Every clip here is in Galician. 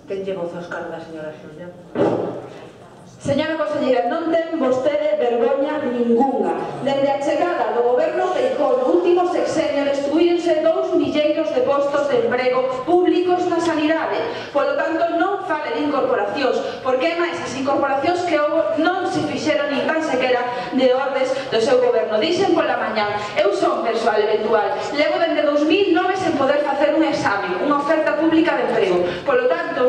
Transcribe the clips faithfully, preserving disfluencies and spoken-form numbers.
Quen lle goza os cargos da señora Xulia? Señora conselleira, non ten vostede vergoña ningunha. Dende a chegada do goberno Feijóo no último sexenio destruírense dous milleiros de postos de emprego públicos na sanidade. Polo tanto, non fale de incorporacións, porque é máis as incorporacións que houve non se fixeron nin tan sequera de ordes do seu goberno. Dixen pola mañán, eu son persoal eventual, levo dende dous mil nove sen poder facer un exame, unha oferta pública de emprego. Polo tanto,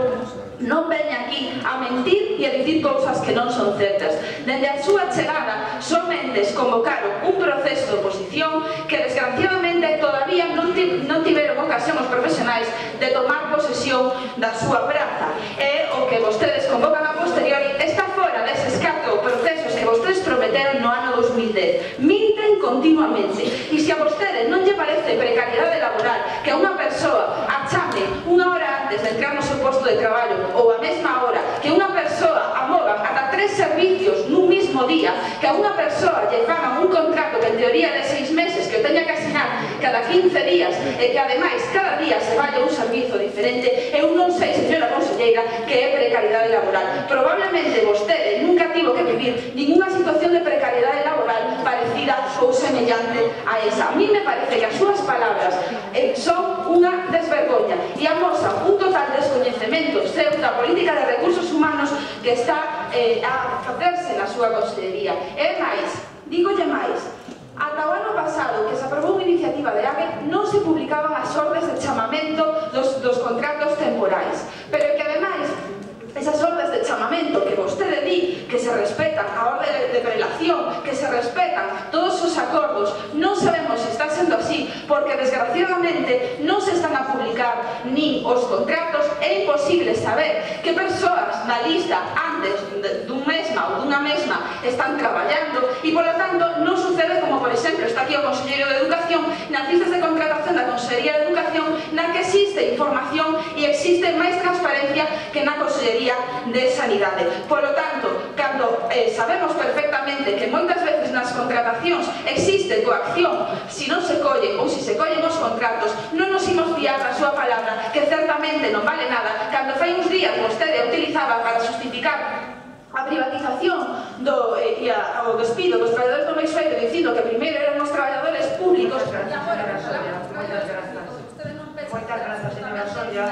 non veña aquí a mentir e a dicir cousas que non son certas. Dende a súa chegada, somente convocaron un proceso de oposición que desgraciadamente todavía non, non tiveron ocasión os profesionais de tomar posesión da súa praza. E o que vostedes convocan a posteriori está fora deses catro procesos que vostedes prometeron no ano dos mil dez. Minten continuamente. E se a vostedes non lle parece precariedade laboral que a unha persoa a chame unha hora antes de entrar no seu posto de traballo ou a mesma hora, que unha persoa amoga ata tres servicios nun mismo día, que a unha persoa lle fagan un contrato que en teoría de seis meses que o teña que asinar cada quince días e que ademais cada día se vaya un servizo diferente, eu non sei, señora conselleira, que é precariedade laboral. Probablemente vostede nunca tivo que vivir ninguna situación de precariedade laboral parecida ou semellante a esa. A mí me parece que as súas palabras eh, son unha desvergoña e amosan un total descoñecemento seu da política de recursos humanos que está eh, a facerse na súa consellería. E máis, dígolle máis, ata o ano pasado que se aprobou unha iniciativa de A B E non se publicaban as ordes de chamamento dos, dos contratos temporais, pero que ademais esas ordes de chamamento que vostede di que se respetan a orde de prelación, que se respetan todos os acordos, non sabemos se está sendo así, porque desgraciadamente non se están a publicar nin os contratos. É imposible saber que persoas na lista antes dun mesma ou dunha mesma están traballando e, polo tanto, non sucede como, por exemplo, está aquí o Conselleiro de Educación nas listas de contratación da Consellería de Educación, na que existe información e existe máis transparencia que na Consellería de Sanidade. Polo tanto, cando eh, sabemos perfectamente que moitas veces nas contratacións existe coacción, se non se collen ou se se collen os contratos, non nos imos fiar da súa palabra, que certamente non vale nada, cando fai uns días vostede utilizaba para justificar a privatización do, eh, e a, o despido dos traballadores do Meixoeiro dicindo que primeiro eran os traballadores públicos. Moitas grazas, señora Soria. Moitas grazas, señora Soria.